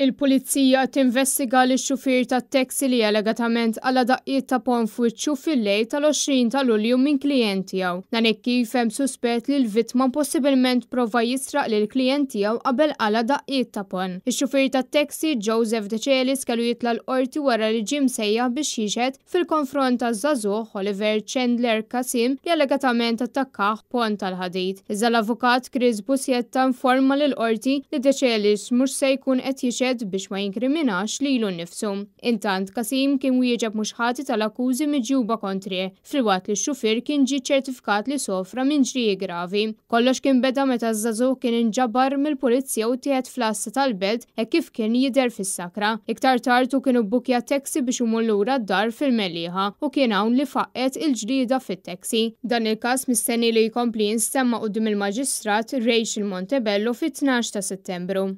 Il-Pulizija qed tinvestiga lix-xufier tat-taxi li allegatament qala' daqqiet ta' ponn f'wiċċu fil-lejl tal-20 ta' Lulju minn klijent tiegħu. Dan hekk kif hemm suspett li l-vittma possibilment prova jisraq lill-klijent tiegħu qabel qala' daqqiet ta' ponn. Ix-xufier tat-taxi, Joseph Decelis kellu jitla' l-Qorti wara li ġie msejjaħ biex jixhed fil-konfront taż-żagħżugħ Oliver Chandler Kasim li allegatament attakkah b'ponn tal-ħadid. Iżda l-avukat Chris Busietta informa lill-Qorti li Decelis mhux se jkun qed jixhed biex ma jinkriminax lilu nnifsu. Intant, Kasim kien wieġeb mhux ħati tal-akkużi miġjuba kontrih, filwaqt li x-xufier kien ġie ċċertifikat li sofra minn ġrieħi gravi. Kollox kien beda meta ż-żagħżugħ kien inġabar mill-Pulizija u ttieħed fl-għassa tal-Belt hekk kif kien jidher fis-sakra. Iktar tard hu kien ibbukkja taxi biex imur lura d-dar fil-Mellieħa u kien hawn li faqqgħet il-ġlieda fit-taxi. Dan il-każ mistenni li jkompli jinstema' quddiem il-Maġistrat Rachel Montebello fit-12 ta' Settembru.